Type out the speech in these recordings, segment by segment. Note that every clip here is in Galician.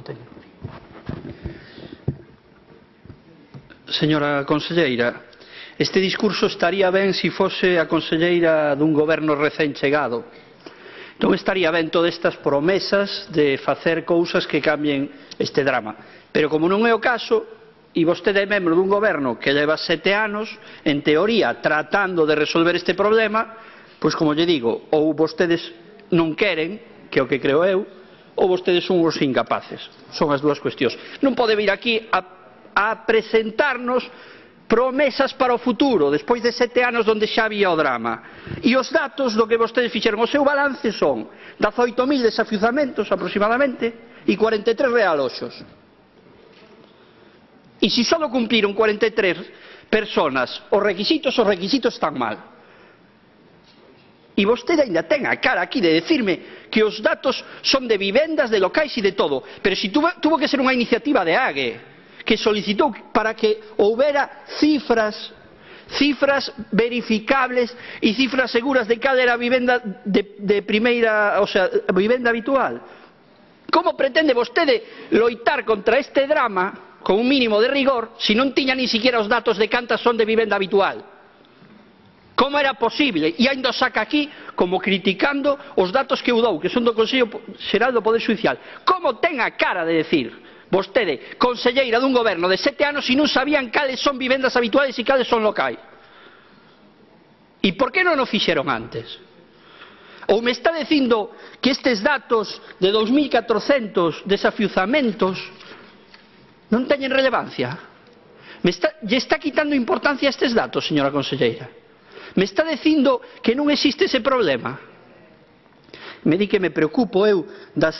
técnico. Señora conselleira, este discurso estaría ben se fose a conselleira dun goberno recén chegado. Non estaría ben todas estas promesas de facer cousas que cambien este drama. Pero como non é o caso, e vostede é membro dun goberno que leva 7 anos, en teoría, tratando de resolver este problema, pois como lle digo, ou vostedes non queren, que é o que creo eu, ou vostedes son os incapaces. Son as dúas cuestións. Non pode vir aquí a presentarnos promesas para o futuro, despois de 7 anos onde xa había o drama. E os datos do que vostedes fixeron, o seu balance son 18.000 desafiuzamentos aproximadamente e 43 realoxos. E se só cumpriron 43 personas os requisitos están mal. E vostede ainda ten a cara aquí de decirme que os datos son de vivendas, de locais e de todo. Pero se tuvo que ser unha iniciativa de AGE, que solicitou para que houbera cifras verificables e cifras seguras de cal era a vivenda de primeira, o sea, a vivenda habitual. Como pretende vostede loitar contra este drama con un mínimo de rigor se non tiña ni siquiera os datos de cantas son de vivenda habitual? Como era posible? E ainda saca aquí como criticando os datos que eu dou, que son do Consello Xeral do Poder Xudicial. Como ten a cara de decir vostede, conselleira dun goberno de 7 anos, e non sabían cales son vivendas habituales e cales son locais? E por que non o fixeron antes? Ou me está dicindo que estes datos de 2.400 desafiuzamentos non teñen relevancia? Lle está quitando importancia a estes datos, señora conselleira? Me está dicindo que non existe ese problema? Me di que me preocupo eu das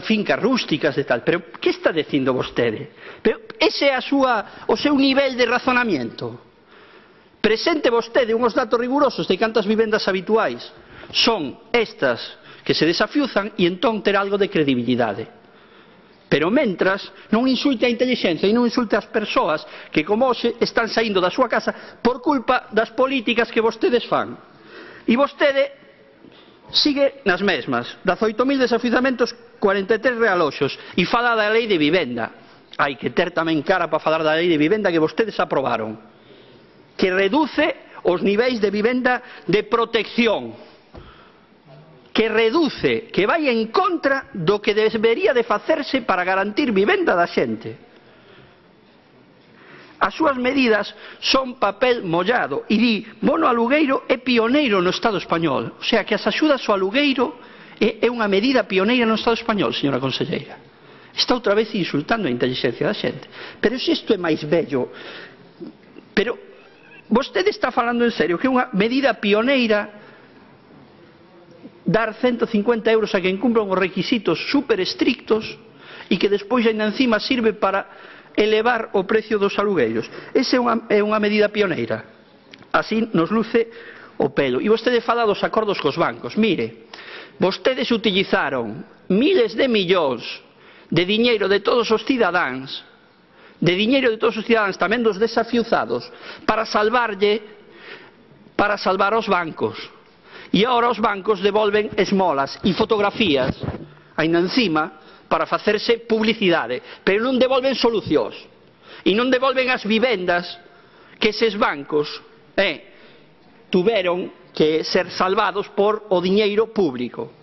fincas rústicas e tal, pero que está dicindo vostede? Pero ese é o seu nivel de razonamiento. Presente vostede uns datos rigurosos de cantas vivendas habituais son estas que se desafiuzan e entón ter algo de credibilidade. Pero mentras non insulte a intelixencia e non insulte as persoas que como hoxe están saindo da súa casa por culpa das políticas que vostedes fan. E vostede sigue nas mesmas, 18.000 desafiuzamentos, 43 realoxos, e fala da lei de vivenda. Hai que ter tamén cara para falar da lei de vivenda que vostedes aprobaron, que reduce os niveis de vivenda de protección, que reduce, que vai en contra do que debería de facerse para garantir vivenda da xente. As súas medidas son papel mollado e di, bono alugueiro é pioneiro no Estado español. O sea, que as axudas ao alugueiro é unha medida pioneira no Estado español, señora conselleira. Está outra vez insultando a inteligencia da xente. Pero se isto é máis bello, pero vostede está falando en serio que é unha medida pioneira dar 150 euros a quen cumpra os requisitos super estrictos e que despois ainda encima sirve para elevar o precio dos alugueiros. Esa é unha medida pioneira. Así nos luce o pelo. E vostede fala dos acordos cos bancos. Mire, vostedes utilizaron miles de millóns de diñeiro de todos os cidadáns, tamén dos desafiuzados, para salvar os bancos. E agora os bancos devolven esmolas e fotografías, ainda encima, para facerse publicidade, pero non devolven solucións e non devolven as vivendas que eses bancos tuveron que ser salvados por o diñeiro público.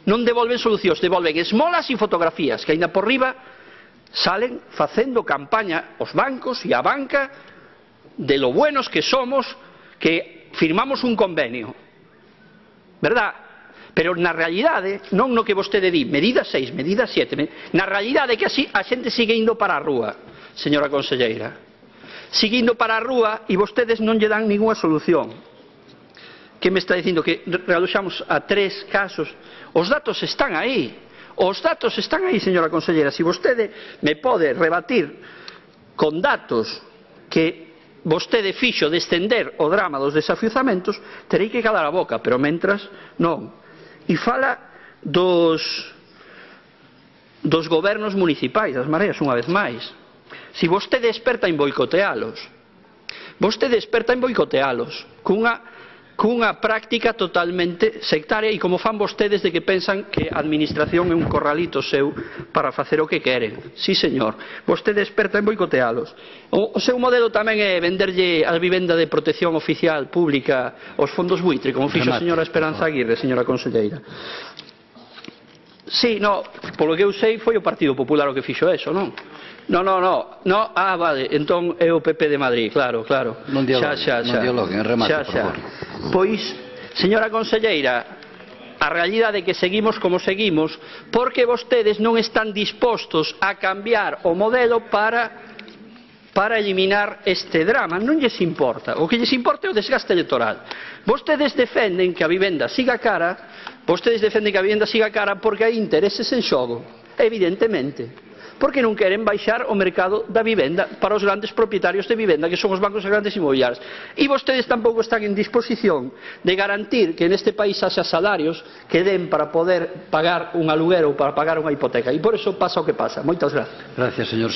Non devolven solucións, devolven esmolas e fotografías que aínda por riba salen facendo campaña os bancos e a banca de lo buenos que somos, que firmamos un convenio, verdad? Pero na realidade, non no que vostede di, medida 6, medida 7, na realidade é que así a xente sigue indo para a rúa, señora conselleira. Sigue indo para a rúa e vostedes non lle dan ninguna solución. Que me está dicindo? Que realoxamos a 3 casos. Os datos están aí. Os datos están aí, señora conselleira. Se vostede me pode rebatir con datos que vostede fixo de estender o drama dos desafiuzamentos, terei que calar a boca, pero mentras non. E fala dos gobernos municipais, das mareas, unha vez máis. Se vostede é experta en boicotealos, cunha cunha práctica totalmente sectaria e como fan vostedes de que pensan que a administración é un corralito seu para facer o que queren. Sí, señor, vostede é experta en boicotealos. O seu modelo tamén é venderlle a vivenda de protección oficial pública aos fondos buitre, como fixo a señora Esperanza Aguirre, señora conselleira. Sí, no, polo que eu sei foi o Partido Popular o que fixo eso, non? No, vale, entón é o PP de Madrid, claro. Non dialoguen, remate, por favor. Pois, señora conselleira, a realidade é que seguimos como seguimos porque vostedes non están dispostos a cambiar o modelo para eliminar este drama. Non lles importa. O que lles importa é o desgaste electoral. Vostedes defenden que a vivenda siga cara, porque hai intereses en xogo, evidentemente. Porque non queren baixar o mercado da vivenda para os grandes propietarios de vivenda, que son os bancos e grandes inmobiliarias. E vostedes tampouco están en disposición de garantir que neste país haxa salarios que den para poder pagar un aluguer ou para pagar unha hipoteca. E por eso pasa o que pasa. Moitas gracias. Gracias, señor.